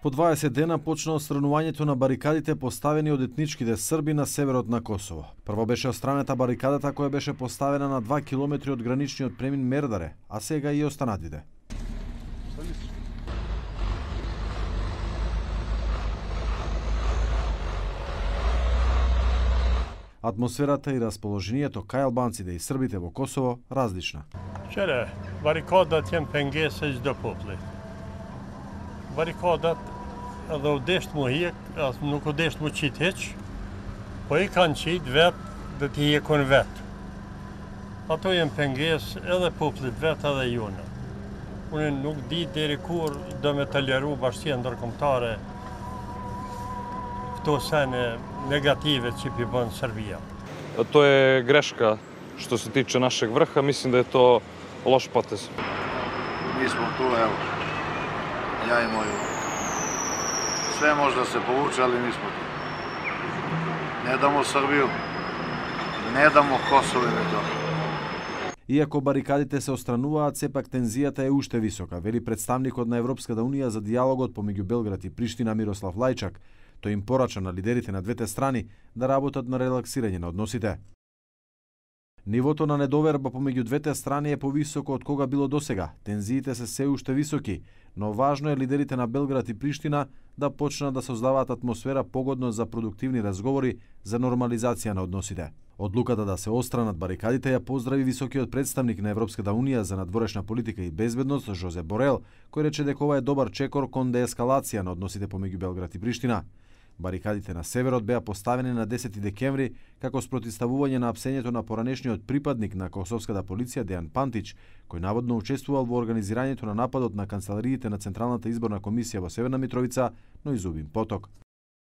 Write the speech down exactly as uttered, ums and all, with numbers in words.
По дваесет дена почна отстранувањето на барикадите поставени од етничките срби на северот на Косово. Прво беше отстранета барикадата која беше поставена на два километри од граничниот премин Мердаре, а сега и останатите. Атмосферата и расположението кај албанците и србите во Косово различна. Qere, barikadat janë pengesa e çdo populli. Barikadat edhe u desht mu hiq, as nuk u desht mu qit hiq, po i kanë qit vet dhe t'i hiqun vet. Ato janë penges edhe popullit vet edhe jone. Unë nuk di deri kur do me të leru bashkësia ndërkombëtare këto sene negative që pi bën Serbia. To je greška što se tiče našeg vrha, mislim da je to loš potez. Mi smo tu, evo, ja i moju. Sve možda se povuče, ali mi smo tu. Ne damo Srbiju, ne damo Kosovo i Metohiju. Иако барикадите се отстрануваат, сепак тензијата е уште висока, вели представникот на Европската унија за диалогот помеѓу Белград и Приштина Мирослав Лајчак. Тој им порача на лидерите на двете страни да работат на релаксирање на односите. Нивото на недоверба помеѓу двете страни е повисоко од кога било досега. Тензиите се се уште високи, но важно е лидерите на Белград и Приштина да почнат да создаваат атмосфера погодна за продуктивни разговори за нормализација на односите. Одлуката да се отстранат барикадите ја поздрави високиот представник на Европската унија за надворешна политика и безбедност Жозе Борел, кој рече дека ова е добар чекор кон деескалација на односите помеѓу Белград и Приштина. Барикадите на северот беа поставени на десети декември како спротивставување на апсењето на поранешниот припадник на косовската полиција Дејан Пантич, кој наводно учествувал во организирањето на нападот на канцелариите на Централната изборна комисија во Северна Митровица, но и Зубин Поток.